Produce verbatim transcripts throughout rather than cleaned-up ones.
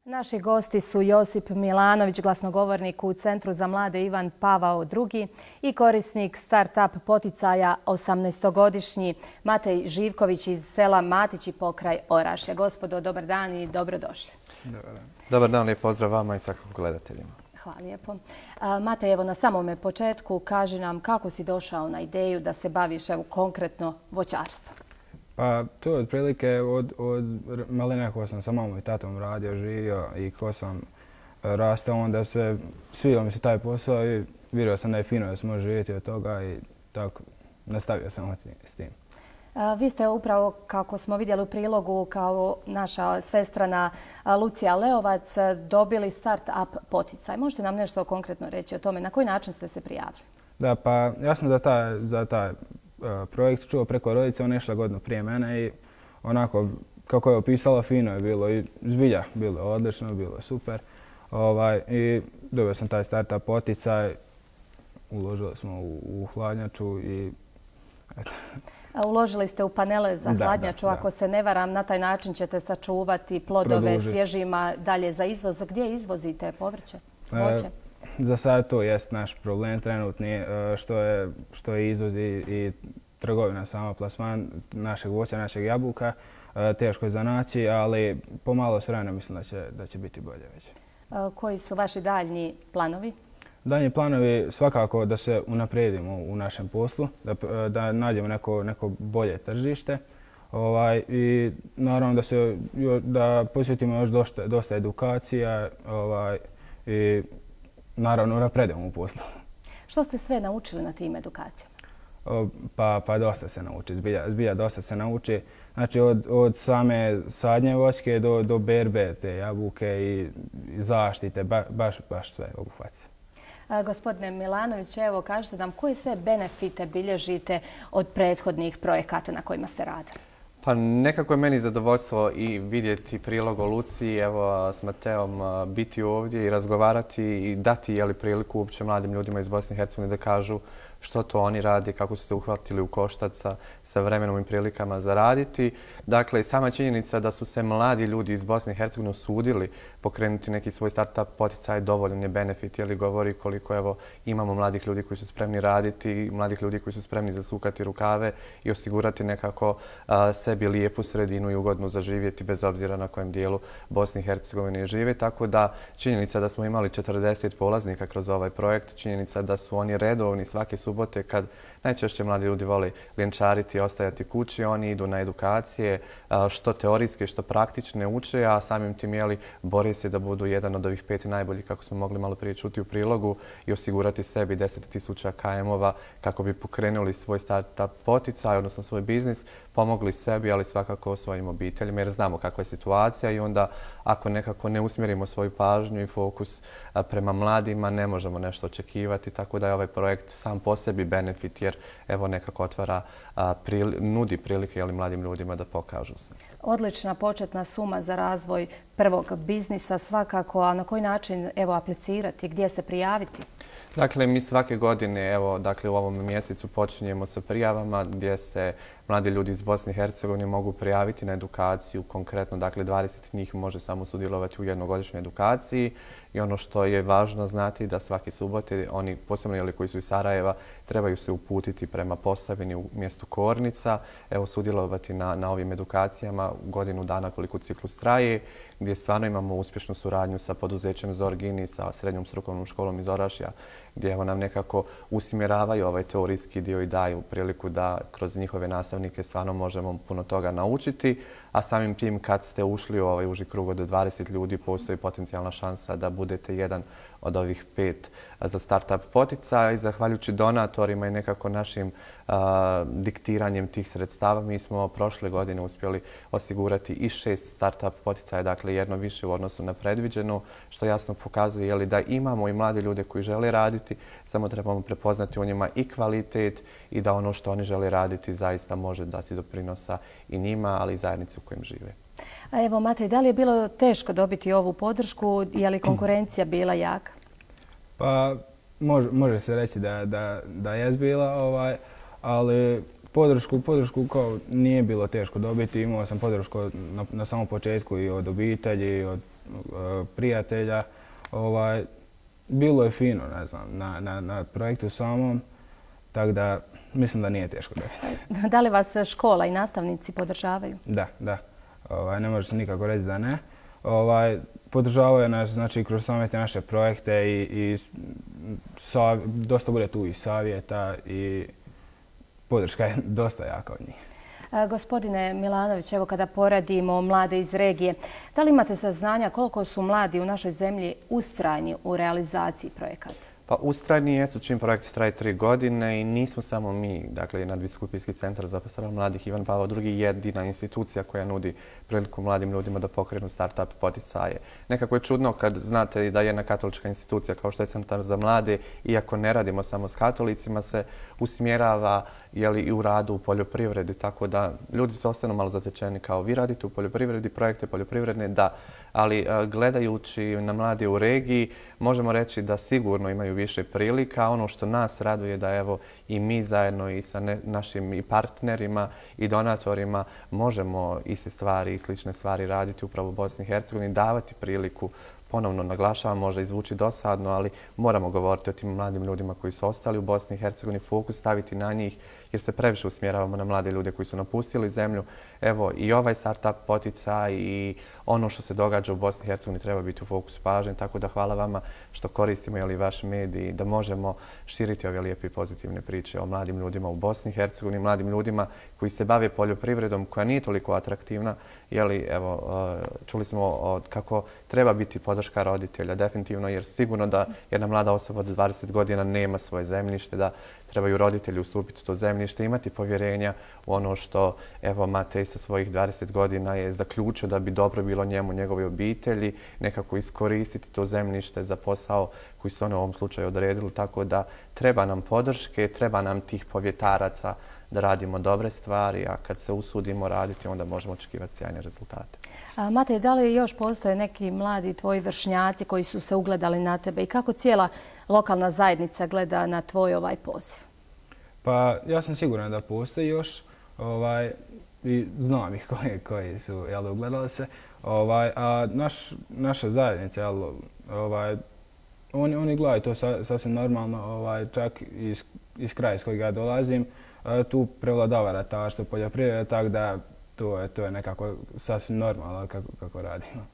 Naši gosti su Josip Milanović, glasnogovornik u Centru za mlade Ivan Pavao drugi i korisnik start-up poticaja osamnaestogodišnji Matej Živković iz sela Matići pokraj Orašja. Gospodo, dobar dan i dobrodošli. Dobar dan. Dobar dan, lijep pozdrav vama i svakako gledateljima. Hvala lijepo. Matej, evo na samome početku kaži nam kako si došao na ideju da se baviš evo, konkretno voćarstvom. Pa to je otprilike od, od malena ko sam sa mamom i tatom radio, živio i ko sam rastao, onda sve, svidio mi se taj posao i vidio sam da je fino da se može živjeti od toga i tako nastavio sam s tim. Vi ste upravo, kako smo vidjeli u prilogu, kao naša svestrana Lucija Leovac, dobili start-up poticaj. Možete nam nešto konkretno reći o tome? Na koji način ste se prijavili? Da, pa ja sam za taj, za taj projekt čuo preko rodice, ona je išla godinu prije mene i onako, kako je opisala, fino je bilo i zbilja, bilo je odlično, bilo je super. Ovaj, I dobio sam taj start-up poticaj, uložili smo u, u hladnjaču i eto. Uložili ste u panele za hladnjaču, da, da, ako se ne varam, na taj način ćete sačuvati plodove Produžiti. svježima dalje za izvoz. Gdje izvozite povrće, voće? E, za sad to jest naš problem trenutni, što je, što je izvoz i, i trgovina, samo plasman našeg voća, našeg jabuka. Teško je za naći, ali pomalo s vremenom mislim da će, da će biti bolje već. Koji su vaši daljnji planovi? Daljnji planovi svakako da se unaprijedimo u našem poslu, da, da nađemo neko, neko bolje tržište ovaj, i naravno da, se, da posjetimo još dosta, dosta edukacija ovaj, i naravno napredujemo u poslu. Što ste sve naučili na tim edukacijama? O, pa, pa dosta se nauči, zbilja, zbilja dosta se nauči. Znači od, od same sadnje voćke do, do berbe te jabuke i, i zaštite, ba, baš, baš sve obuhvati. Gospodine Milanović, evo kažete nam koje sve benefite bilježite od prethodnih projekata na kojima ste radili? Pa nekako je meni zadovoljstvo i vidjeti prilog o Luciji, evo s Mateom biti ovdje i razgovarati i dati jeli, priliku uopće mladim ljudima iz Bosne i Hercegovine da kažu što to oni radi, kako su se uhvatili u koštac sa, sa vremenom i prilikama za raditi. Dakle, sama činjenica da su se mladi ljudi iz Bosne i Hercegovine usudili pokrenuti neki svoj start-up poticaj dovoljan je benefit, jer govori koliko evo, imamo mladih ljudi koji su spremni raditi, mladih ljudi koji su spremni zasukati rukave i osigurati nekako a, sebi lijepu sredinu i ugodno zaživjeti bez obzira na kojem dijelu Bosne i Hercegovine žive. Tako da činjenica da smo imali četrdeset polaznika kroz ovaj projekt, činjenica da su oni redovni svake subote kad najčešće mladi ljudi vole ljenčariti i ostajati kući, oni idu na edukacije, što teorijske, što praktične uče, a samim tim jeli, bore se da budu jedan od ovih pet najboljih, kako smo mogli malo prije čuti u prilogu, i osigurati sebi deset tisuća ka emova kako bi pokrenuli svoj start-up poticaj, odnosno svoj biznis, pomogli sebi, ali svakako svojim obiteljima, jer znamo kakva je situacija i onda ako nekako ne usmjerimo svoju pažnju i fokus prema mladima, ne možemo nešto očekivati, tako da je ovaj projekt sam po sebi benefit, jer evo nekako otvara, a, prili, nudi prilike jeli, mladim ljudima da pokažu se. Odlična početna suma za razvoj prvog biznisa svakako, a na koji način evo aplicirati, gdje se prijaviti? Dakle, mi svake godine, evo, dakle, u ovom mjesecu počinjemo sa prijavama gdje se mladi ljudi iz Bosne i Hercegovine mogu prijaviti na edukaciju. Konkretno, dakle, dvadeset njih može samo sudjelovati u jednogodišnjoj edukaciji. I ono što je važno znati da svake subote, oni posebno jeli, koji su iz Sarajeva, trebaju se uputiti prema Posavini u mjestu Kornica, evo, sudjelovati na, na ovim edukacijama godinu dana koliko ciklus traje, gdje stvarno imamo uspješnu suradnju sa poduzećem Zorgini, sa srednjom strukovnom školom iz Orašja, gdje evo, nam nekako usmjeravaju ovaj teorijski dio i daju priliku da kroz njihove nastavnike stvarno možemo puno toga naučiti. A samim tim kad ste ušli u ovaj uži krug od dvadeset ljudi, postoji potencijalna šansa da budete jedan od ovih pet za start-up poticaj. Zahvaljujući donatorima i nekako našim a, diktiranjem tih sredstava, mi smo prošle godine uspjeli osigurati i šest start-up poticaja, dakle jedno više u odnosu na predviđeno, što jasno pokazuje jeli, da imamo i mlade ljude koji žele raditi, samo trebamo prepoznati u njima i kvalitet i da ono što oni žele raditi zaista može dati doprinosa i njima, ali i zajednici u kojem žive. A evo, Matej, da li je bilo teško dobiti ovu podršku? Je li konkurencija bila jaka? Pa, može, može se reći da, da, da je bila, ovaj, ali podršku, podršku kao nije bilo teško dobiti. Imao sam podršku na, na samom početku i od obitelji, i od prijatelja. Ovaj, bilo je fino, ne znam, na, na, na projektu samom, tako da mislim da nije teško dobiti. Da li vas škola i nastavnici podržavaju? Da, da. Ovaj, ne može se nikako reći da ne. Ovaj, podržavaju nas, znači, kroz same te naše projekte i, i sav, dosta bude tu i savjeta i podrška je dosta jaka od njih. Gospodine Milanović, evo kada poredimo mlade iz regije, da li imate saznanja koliko su mladi u našoj zemlji ustrajni u realizaciji projekata? Pa ustrajni jesu čim projekt traje tri godine i nismo samo mi, dakle Nadbiskupijski centar za zapošljavanje mladih Ivan Pavao drugi jedina institucija koja nudi priliku mladim ljudima da pokrenu start-up poticaje. Nekako je čudno kad znate da jedna katolička institucija kao što je Centar za mlade, iako ne radimo samo s katolicima, se usmjerava jeli, i u radu u poljoprivredi, tako da ljudi se ostanu malo zatečeni kao vi radite u poljoprivredi, projekte poljoprivredne, da, ali gledajući na mlade u regiji možemo reći da sigurno imaju više prilika. Ono što nas raduje da evo i mi zajedno i sa ne, našim i partnerima i donatorima možemo iste stvari i slične stvari raditi upravo u Bosni i Hercegovini, davati priliku. Ponovno naglašavam, možda izvuči dosadno, ali moramo govoriti o tim mladim ljudima koji su ostali u Bosni i Hercegovini, fokus staviti na njih jer se previše usmjeravamo na mlade ljude koji su napustili zemlju. Evo i ovaj startup poticaj i ono što se događa u Bosni i Hercegovini treba biti u fokusu pažnje, tako da hvala vama što koristimo jeli, vaš medij da možemo širiti ove lijepe i pozitivne priče o mladim ljudima u Bosni i Hercegovini, mladim ljudima koji se bave poljoprivredom koja nije toliko atraktivna. Jeli, evo, čuli smo kako treba biti podrška roditelja, definitivno, jer sigurno da jedna mlada osoba od dvadeset godina nema svoje zemljište, da trebaju roditelji ustupiti to zemljište, imati povjerenja u ono što evo Matej sa svojih dvadeset godina je zaključio da bi dobro bilo njemu, njegove obitelji, nekako iskoristiti to zemljište za posao koji su oni u ovom slučaju odredili, tako da treba nam podrške, treba nam tih povjetaraca da radimo dobre stvari, a kad se usudimo raditi, onda možemo očekivati sjajne rezultate. A, Matej, da li još postoje neki mladi tvoji vršnjaci koji su se ugledali na tebe i kako cijela lokalna zajednica gleda na tvoj ovaj poziv? Pa ja sam siguran da postoji još ovaj, i znam ih koji, koji su jel, ugledali se. Ovaj, a naš, naša zajednica, jel, ovaj, oni, oni gledaju to sa, sasvim normalno, ovaj, čak iz, iz kraja iz kojeg ja dolazim. Tu prevladava ratarstvo, poljoprivreda, tako da to je, to je nekako sasvim normalno kako, kako radimo.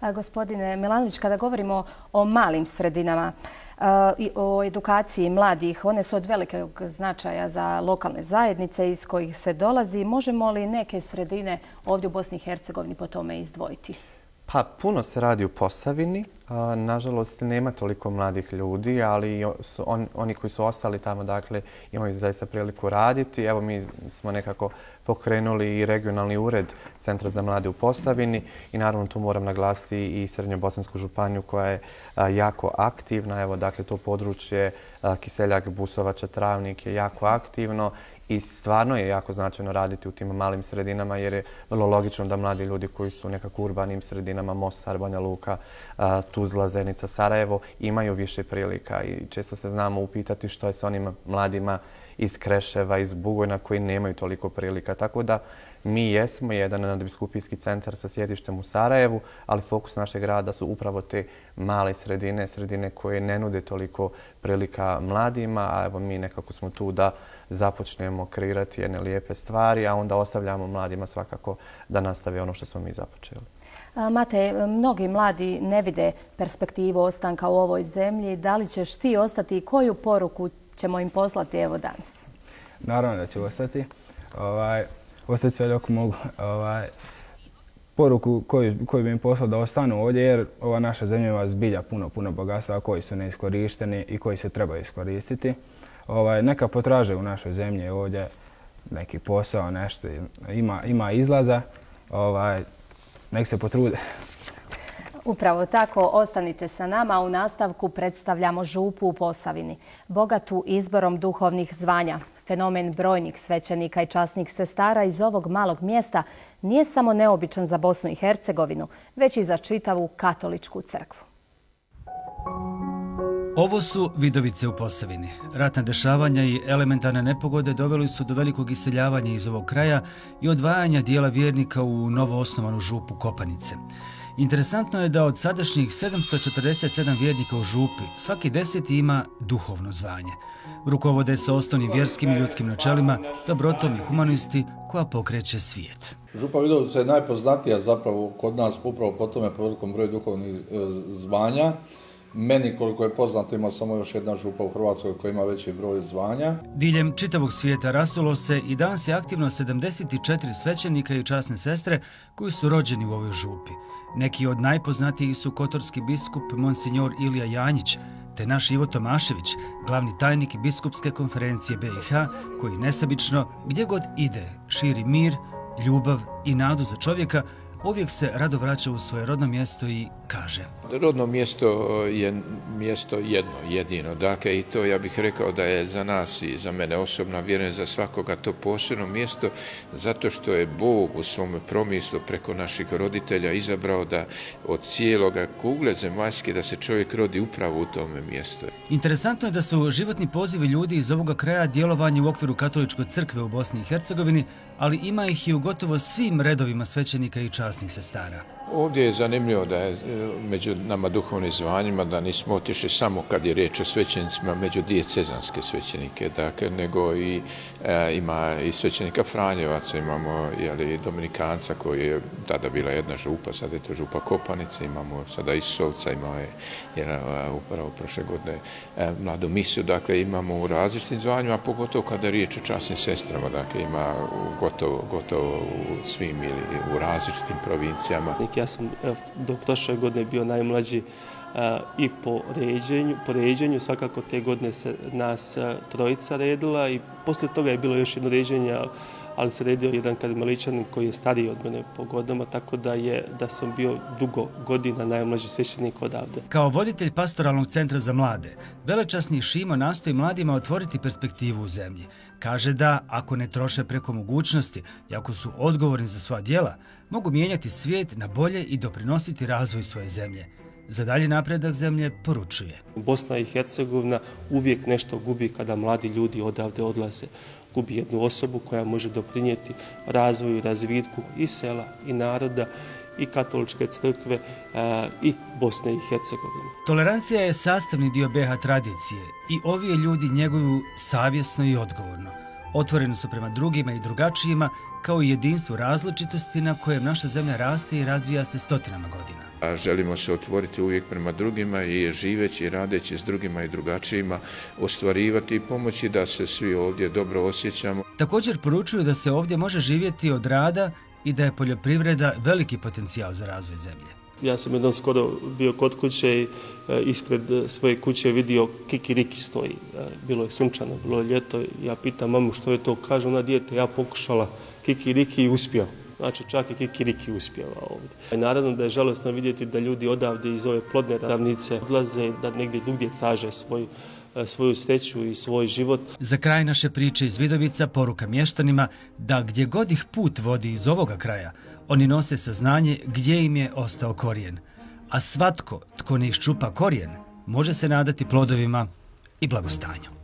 A, gospodine Milanović, kada govorimo o malim sredinama a, i o edukaciji mladih, one su od velikog značaja za lokalne zajednice iz kojih se dolazi. Možemo li neke sredine ovdje u Bosni i Hercegovini po tome izdvojiti? Pa puno se radi u Posavini. Nažalost, nema toliko mladih ljudi, ali su on, oni koji su ostali tamo, dakle, imaju zaista priliku raditi. Evo, mi smo nekako pokrenuli i regionalni ured Centra za mlade u Posavini i naravno tu moram naglasiti i Srednjobosansku županiju koja je jako aktivna. Evo, dakle, to područje Kiseljak, Busovača, Travnik je jako aktivno. I stvarno je jako značajno raditi u tim malim sredinama jer je vrlo logično da mladi ljudi koji su nekako u urbanim sredinama, Mostar, Banja Luka, Tuzla, Zenica, Sarajevo, imaju više prilika i često se znamo upitati što je s onim mladima iz Kreševa, iz Bugojna koji nemaju toliko prilika. Tako da mi jesmo jedan nadbiskupijski centar sa sjedištem u Sarajevu, ali fokus našeg rada su upravo te male sredine, sredine koje ne nude toliko prilika mladima, a evo mi nekako smo tu da započnemo kreirati jedne lijepe stvari, a onda ostavljamo mladima svakako da nastave ono što smo mi započeli. Matej, mnogi mladi ne vide perspektivu ostanka u ovoj zemlji. Da li ćeš ti ostati i koju poruku ćemo im poslati evo danas? Naravno da ću ostati. Ovaj, ostati sve dok mogu. Ovaj, poruku koju, koju bi im poslao da ostanu ovdje jer ova naša zemlja ima zbilja puno, puno bogatstva koji su neiskorišteni i koji se trebaju iskoristiti. Ovaj, neka potraže u našoj zemlji ovdje neki posao, nešto, ima, ima izlaza, ovaj, nek se potrude. Upravo tako, ostanite sa nama. U nastavku predstavljamo župu u Posavini, bogatu izborom duhovnih zvanja. Fenomen brojnih svećenika i časnih sestara iz ovog malog mjesta nije samo neobičan za Bosnu i Hercegovinu, već i za čitavu katoličku crkvu. Ovo su Vidovice u Posavini. Ratna dešavanja i elementarne nepogode doveli su do velikog iseljavanja iz ovog kraja i odvajanja dijela vjernika u novo osnovanu župu Kopanice. Interesantno je da od sadašnjih sedamsto četrdeset sedam vjernika u župi, svaki deseti ima duhovno zvanje. Rukovode se osnovnim vjerskim i ljudskim načelima, dobrotom i humanisti koja pokreće svijet. Župa Vidovica je najpoznatija zapravo kod nas upravo po tome po velikom broju duhovnih zvanja. Meni, koliko je poznato, ima samo još jedna župa u Hrvatskoj koja ima veći broj zvanja. Diljem čitavog svijeta rasulo se i danas je aktivno sedamdeset četiri svećenika i časne sestre koji su rođeni u ovoj župi. Neki od najpoznatijih su kotorski biskup Monsignor Ilija Janjić, te naš Ivo Tomašević, glavni tajnik biskupske konferencije B i H, koji nesebično, gdje god ide, širi mir, ljubav i nadu za čovjeka, uvijek se rado vraća u svoje rodno mjesto i kaže: Rodno mjesto je mjesto jedno, jedino. Dakle, i to ja bih rekao da je za nas i za mene osobno, vjerujem za svakoga, to posebno mjesto, zato što je Bog u svom promislu preko naših roditelja izabrao da od cijeloga kugle zemaljske da se čovjek rodi upravo u tome mjestu. Interesantno je da su životni pozivi ljudi iz ovoga kraja djelovanje u okviru Katoličke crkve u Bosni i Hercegovini, ali ima ih i u gotovo svim redovima svećenika i časnih sestara. Ovdje je zanimljivo da je među nama duhovnim zvanjima da nismo otišli samo kad je riječ o svećenicima među dijecezanske svećenike, dakle, nego i e, ima i svećenika Franjevaca, imamo jeli, Dominikanca koji je tada bila jedna župa, sada je to župa Kopanice, imamo sada Isovca, imao je jel, upravo prošle godine e, mladu misiju, dakle imamo u različitim zvanjima, pogotovo kada je riječ o časnim sestrama, dakle ima gotovo, gotovo u svim ili u različitim provincijama. Ja sam do prošle godine bio najmlađi a, i po ređenju, po ređenju, svakako te godine se nas a, trojica redila i poslije toga je bilo još jedno ređenje, ali se redio jedan karmeličanin koji je stariji od mene po godinama, tako da je da sam bio dugo godina najmlađi svećenik odavde. Kao voditelj pastoralnog centra za mlade, velečasni Šimo nastoji mladima otvoriti perspektivu u zemlji. Kaže da, ako ne troše preko mogućnosti i ako su odgovorni za sva djela, mogu mijenjati svijet na bolje i doprinositi razvoju svoje zemlje. Za dalji napredak zemlje poručuje: Bosna i Hercegovina uvijek nešto gubi kada mladi ljudi odavde odlaze. Gubi jednu osobu koja može doprinijeti razvoju i razvitku i sela i naroda i Katoličke crkve a, i Bosne i Hercegovine. Tolerancija je sastavni dio B H tradicije i ovi je ljudi njeguju savjesno i odgovorno. Otvoreni su prema drugima i drugačijima, kao i jedinstvu različitosti na kojem naša zemlja raste i razvija se stotinama godina. A želimo se otvoriti uvijek prema drugima i živeći i radeći s drugima i drugačijima ostvarivati i pomoći da se svi ovdje dobro osjećamo. Također poručuju da se ovdje može živjeti od rada i da je poljoprivreda veliki potencijal za razvoj zemlje. Ja sam jednom skoro bio kod kuće i ispred svoje kuće vidio kikiriki stoji. Bilo je sunčano, bilo je ljeto. Ja pitam mamu što je to, kaže ona: dijete, ja pokušala kikiriki i uspio. Znači čak i kikiriki uspjeva ovdje. I naravno da je žalosno vidjeti da ljudi odavde iz ove plodne ravnice odlaze, da negdje drugdje traže svoj, svoju sreću i svoj život. Za kraj naše priče iz Vidovica poruka mještanima da gdje god ih put vodi iz ovoga kraja, oni nose saznanje gdje im je ostao korijen. A svatko tko ne iščupa korijen može se nadati plodovima i blagostanju.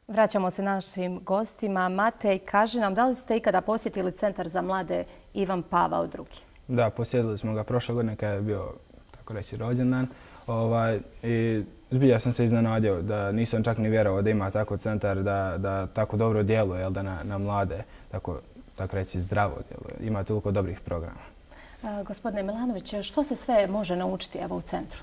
Vraćamo se našim gostima. Matej, kaži nam, da li ste ikada posjetili Centar za mlade Ivan Pavao drugi? Da, posjetili smo ga prošle godine kada je bio, tako reći, rođendan. Ovaj, I zbilja sam se iznenadio da nisam čak ni vjerovao da ima tako centar, da, da tako dobro djeluje, jel, da na, na mlade, tako, tako reći, zdravo djeluje. Ima toliko dobrih programa. E, gospodine Milanović, što se sve može naučiti evo u centru?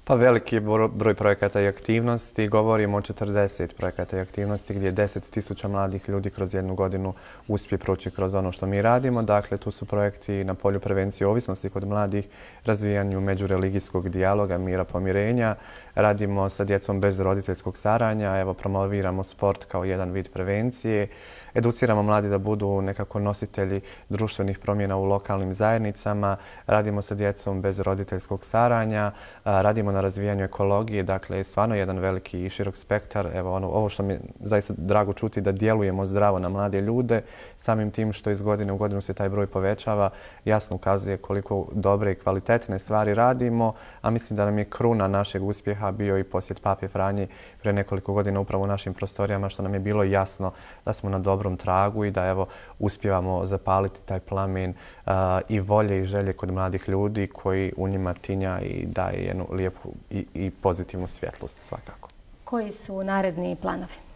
Pa veliki broj projekata i aktivnosti. Govorimo o četrdeset projekata i aktivnosti gdje deset tisuća mladih ljudi kroz jednu godinu uspije proći kroz ono što mi radimo. Dakle, tu su projekti na polju prevencije ovisnosti kod mladih, razvijanju međureligijskog dijaloga, mira, pomirenja. Radimo sa djecom bez roditeljskog staranja. Evo, promoviramo sport kao jedan vid prevencije. Educiramo mladi da budu nekako nositelji društvenih promjena u lokalnim zajednicama. Radimo sa djecom bez roditeljskog staranja. Radimo na razvijanju ekologije. Dakle, stvarno jedan veliki i širok spektar. Evo, ono, ovo što mi je zaista drago čuti, da djelujemo zdravo na mlade ljude. Samim tim što iz godine u godinu se taj broj povećava, jasno ukazuje koliko dobre i kvalitetne stvari radimo. A mislim da nam je kruna našeg uspjeha bio i posjet Pape Franje pre nekoliko godina upravo u našim prostorijama, što nam je bilo jasno da smo na dobrom dobrom tragu i da evo uspijevamo zapaliti taj plamen i volje i želje kod mladih ljudi koji u njima tinja i daje jednu lijepu i, i pozitivnu svjetlost svakako. Koji su naredni planovi?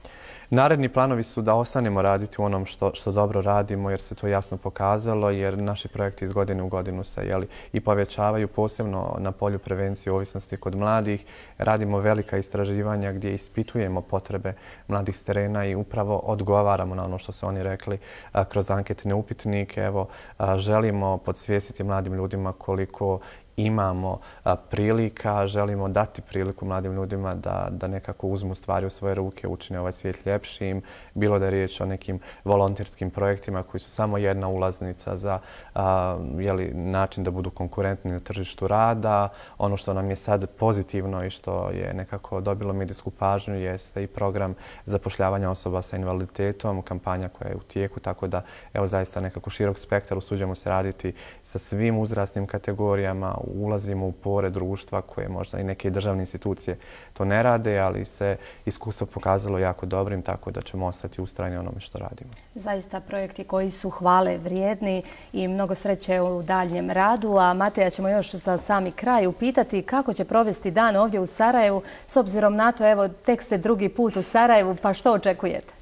Naredni planovi su da ostanemo raditi u onom što, što dobro radimo jer se to jasno pokazalo, jer naši projekti iz godine u godinu se jeli, i povećavaju, posebno na polju prevencije ovisnosti kod mladih. Radimo velika istraživanja gdje ispitujemo potrebe mladih s terena i upravo odgovaramo na ono što su oni rekli a, kroz anketne upitnike. Evo, a, želimo podsvijestiti mladim ljudima koliko imamo a, prilika, želimo dati priliku mladim ljudima da, da nekako uzmu stvari u svoje ruke, učine ovaj svijet ljepšim, bilo da je riječ o nekim volonterskim projektima koji su samo jedna ulaznica za a, jeli, način da budu konkurentni na tržištu rada. Ono što nam je sad pozitivno i što je nekako dobilo medijsku pažnju jeste i program zapošljavanja osoba sa invaliditetom, kampanja koja je u tijeku, tako da evo zaista nekako širok spektar, usuđujemo se raditi sa svim uzrasnim kategorijama, ulazimo u pore društva koje možda i neke državne institucije to ne rade, ali se iskustvo pokazalo jako dobrim, tako da ćemo ostati ustrajni onome što radimo. Zaista projekti koji su hvale vrijedni i mnogo sreće u daljnjem radu. A Mateja ćemo još za sami kraj upitati kako će provesti dan ovdje u Sarajevu. S obzirom na to, evo, tek ste drugi put u Sarajevu, pa što očekujete?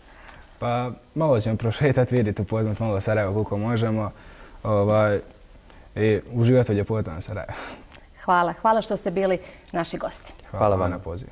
Pa malo ćemo prošetati, vidjeti, upoznati malo Sarajevo koliko možemo. Ovaj, i uživati u ljepotama Sarajeva. Hvala. Hvala što ste bili naši gosti. Hvala vam na pozivu.